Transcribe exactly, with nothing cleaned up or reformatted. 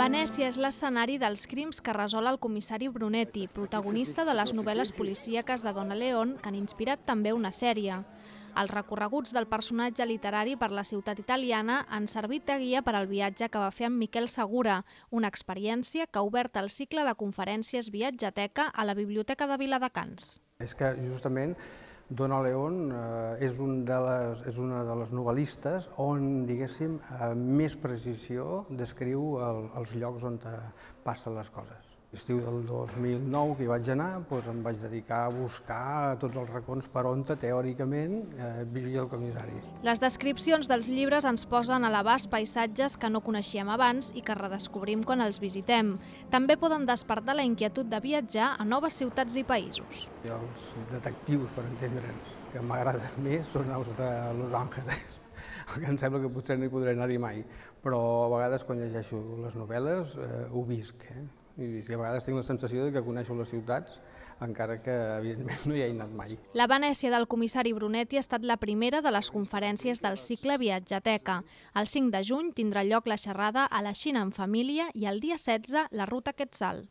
Venècia és l'escenari dels crims que resol el comissari Brunetti, protagonista de les novel·les policíaques de Donna Leon, que han inspirat també una sèrie. Els recorreguts del personatge literari per la ciutat italiana han servit de guia per al viatge que va fer amb Miquel Segura, una experiència que ha obert el cicle de conferències Viatgeteca a la Biblioteca de Viladecans. És que justament Donna Leon eh, és, un de les, és una de les novel·listes on, diguéssim, amb més precisió descriu el, els llocs on passen les coses. L'estiu del dos mil nou que hi vaig anar, doncs em vaig dedicar a buscar tots els racons per on teòricament eh, vivia el comissari. Les descripcions dels llibres ens posen a l'abast paisatges que no coneixíem abans i que redescobrim quan els visitem. També poden despertar la inquietud de viatjar a noves ciutats i països. I els detectius, per entendre'ns, que m'agraden més són els de Los Angeles, que em sembla que potser no hi podré anar-hi mai, però a vegades quan llegeixo les novel·les eh, ho visc. Eh? I a vegades tinc la sensació que coneixo les ciutats, encara que evidentment no hi he anat mai. La Venècia del comissari Brunetti ha estat la primera de les conferències del cicle Viatgeteca. El cinc de juny tindrà lloc la xerrada a la Xina en família i el dia setze la ruta Quetzal.